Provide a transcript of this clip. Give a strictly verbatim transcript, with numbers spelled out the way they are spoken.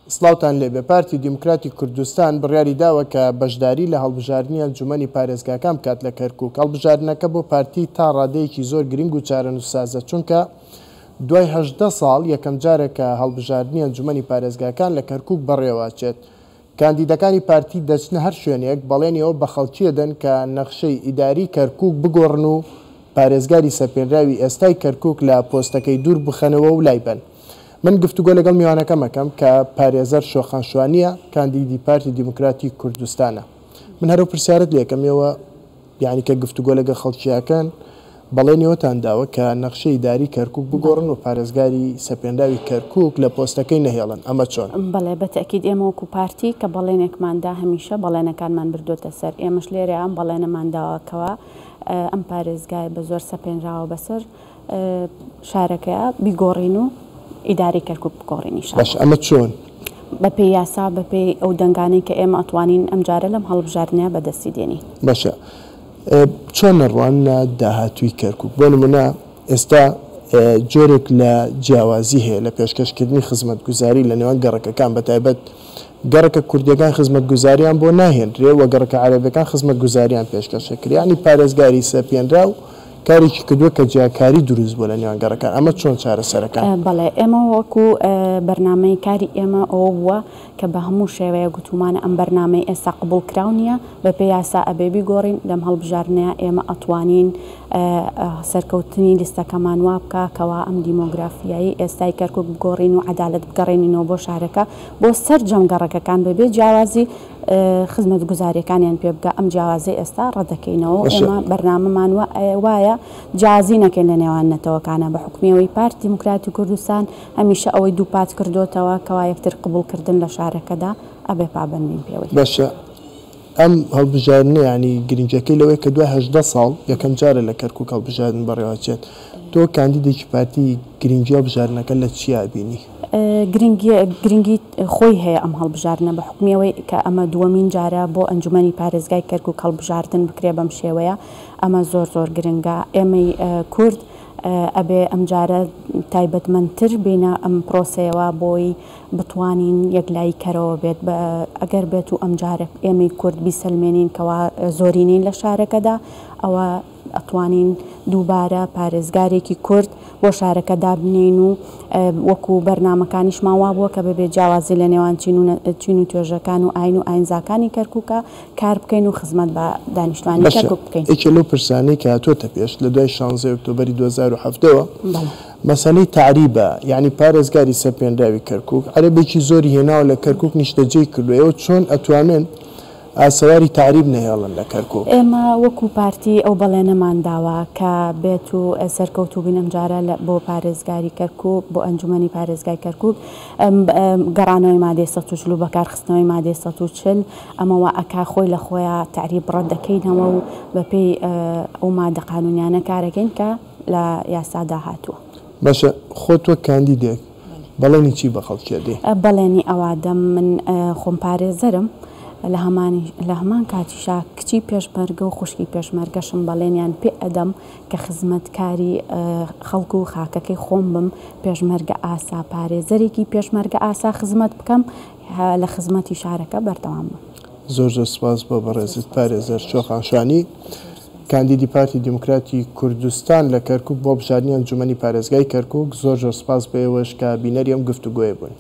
سڵاوتان لێبێ. پارتی دیموکراتی کوردستان بڕیاری داوە کە بەشداری لە هەڵبژاردنی ئەنجومەنی پارێزگاکان بکات لە کەرکوک. هەڵبژاردنەکە بۆ پارتی تا ڕادەیەکی زۆر گرنگ و چارەنووسسازە، چونکە دوای هەژدە ساڵ یەکەم جارە کە هەڵبژاردنی ئەنجومەنی پارێزگاکان لە کەرکوک بەڕێوەچێت. کاندیدەکانی پارتی دەچنە هەر شوێنێک بەڵێنیەوە بە خەڵکی دەن کە نەخشەی ئیداری کەرکوک بگۆڕن و پارێزگاری سەپێنراوی ئێستای کەرکوک لە پۆستەکەی دوور بخەنەوە و لای بن. من گفتوگۆ لەگەڵ میوانەکەم ئەکەم کە پارێزەر شۆخان شوانیە، کاندیدی پارتی دیموکراتی کوردستانە. من هەرو پرسیارت لێکەم ئێوە یعنی کە گفتوگۆ لەگەڵ خەڵکیەکەن بەڵێنیەوەتان داوە کە نەخشەی ئیداری کەرکوک بگۆڕن و پارێزگاری سەپێنراوی کەرکوک لە پۆستەکەی نەهێڵن، ئەمە چۆن؟ بەڵێ بەتەکید ئێمە وەکو پارتی کە بەڵێنێکماندا هەمیشە بەڵێنەکانمان بردوێتە سەر. ئێمەش لێرە ئەم بەڵێنەمان داوەکەوە ئەم پارێزگای بە زۆر سەپێنراوە بەسەر شارەکەیە بیگۆڕین و ئیداری کەرکوک بگۆڕین. باش ئەمە چۆن؟ بەپێی یاسا، بەپێی ئەو دەنگانەی کە ئێمە ئەتوانین ئەمجارە لەم هەڵبژاردنەیە بەدەستی دێنین. باشە چۆن نەڕوانە داهاتووی کەرکوک؟ بۆ نمونە ئێستا جۆرێک لە جیاوازی هەیە لە پێشکەشکردنی خزمەتگوزاری لە نێوان گەڕەکەکان، بەتایبەت گەڕەکە کوردیەکان خزمەتگوزاریان بۆ ناهێنرێ و گەڕەکە عەرەبیەکان خزمەتگوزاریان پێشکەشەکرێ. یعنی پارێزگاری سەپێنراو کارێکی کردووە کە جیاکاری دروست بوو لە نێوان گەڕەکان. ئەمە چۆن چارەسەرەکان؟ بەڵێ ئێمە وەکو بەرنامەی کاری ئێمە ئەوە بووە کە بە هەموو شێوەیە گوتومانە ئەم بەرنامەی ئێستا قبوڵ کراو نییە، بەپێی یاسا ئەبێ بیگۆڕین. لەم هەڵبژاردنەیە ئێمە ئەتوانین سەرکەوتنی لیستەکەمان وا بکە کەوا ئەم دیمۆگرافیایی ئێستای کەرکوک بگۆڕین و عەدالەت بگەڕێنینەوە بۆ شارەکە، بۆ سەرجەم گەڕەکەکان بەبێ جیاوازی خزمەتگوزاریەکانیان پێ بگە. ئەم جیاوازی ئێستا ڕەدەکەینەوە. ئێمە بەرنامەمان وایە جیاوازی نەکەین لە نێوان نەتەوەکانە. بە حکومیەوەی پارتی دیموکراتی کوردستان هەمیشە ئەوەی دووپات کردوتەوە کەوا یەکتر قبوڵکردن لە شارەکەدا ئەبێ پابەند بین پێوەی. باشە ئەم هەڵبژاردنە یعنی گرنگەکەی لەوەی کە دوای هەژدە ساڵ یەکەم جارە لە کەرکوک هەڵبژاردن بەڕێوەچێت. تۆ کاندیدێکی پارتی گرنگی هەڵبژاردنەکە لە چیا بینی؟ گرنگی خۆی هەیە ئەم هەڵبژاردنە بە حکومیەوەی کە ئەمە دووەمین جارە بۆ ئەنجومەنی پارێزگای کەرکوک هەڵبژاردن بکرێ بەم شێوەیە. ئەمە زۆر زۆر گرنگە. ئێمەی کورد ئەبێ ئەمجارە تایبەتمەندتر بینە ئەم پرۆسەیەوە بۆی بتوانین یەکلایی کەرەوە بێت. ئەگەر بێت و ئەمجارە ئێمەی کورد بیسەلمێنین کەوا زۆرینین لە شارەکەدا، ئەوە ئەتوانین دووبارە پارێزگارێکی کورد بۆ شارەکە دابنین و وەکو بەرنامەکانیشمان وا بووە کە بەبێ جیاوازی لە نێوان چین و توێژەکان و ئاین و ئاینزاکانی کەرکوکە کار بکەین و خزمەت بە دانیشتوانی کەرکوک بکەین. یەکێ لەو پرسانەی کە هاتووەتە پێش لە دوای شانزەی ئۆکتۆبەری دوو هەزار و حەڤدەوە مەسەلەی تەعریبە، یعنی پارێزگاری سەپێنراوی کەرکوک عەرەبێکی زۆری هێناوە لە کەرکوک نیشتەجێی کردووە. ئێوە چۆن ئەتوانن ئاسەواری تەعریب نەهێڵن لە کەرکوک؟ ئێمە وەکو پارتی ئەو بەڵێنەمان داوە کە بێت و سەرکەوتوو بین ئەمجارە بۆ پارێزگاری کەرکوک، بۆ ئەنجومەنی پارێزگای کەرکوک، گەڕانەوەی مادەی سەد و چل و بەکارخستنەوەی مادەی سەد و چل ئەمەوە ئەکا خۆی لە خۆیان تەعریب ڕەت دەکەینەوە و بەپێی ئەو مادە قانونیانە کارەکەین کە لە یاسادا هاتووە. باشە خۆت وەک کاندیدێک بەڵێنی چی بە خەڵکی ئەدەی؟ بەڵێنی ئەوادەم من خۆم پارێزەرم، لە هەمان کاتیشا کچی پێشمەرگە و خوشکی پێشمەرگەشم بەڵێنیان پێ ئەدەم کە خزمەتکاری خەڵک و خاکەکەی خۆم بم، پێشمەرگە ئاسا پارێزەرێکی پێشمەرگە ئاسا خزمەت بکەم، لە خزمەتی شارەکە بەردەوام بم. زۆر زۆر سپاس بۆ بەڕێزت پارێزەر شۆخان شوانی، کاندیدی پارتی دیموکراتی کوردستان لە کەرکوک بۆ بژاردنی ئەنجومەنی پارێزگای کەرکوک. زۆر زۆر سپاس بە ئێوەش کە بینەری ئەم گفتوگۆیە بوون.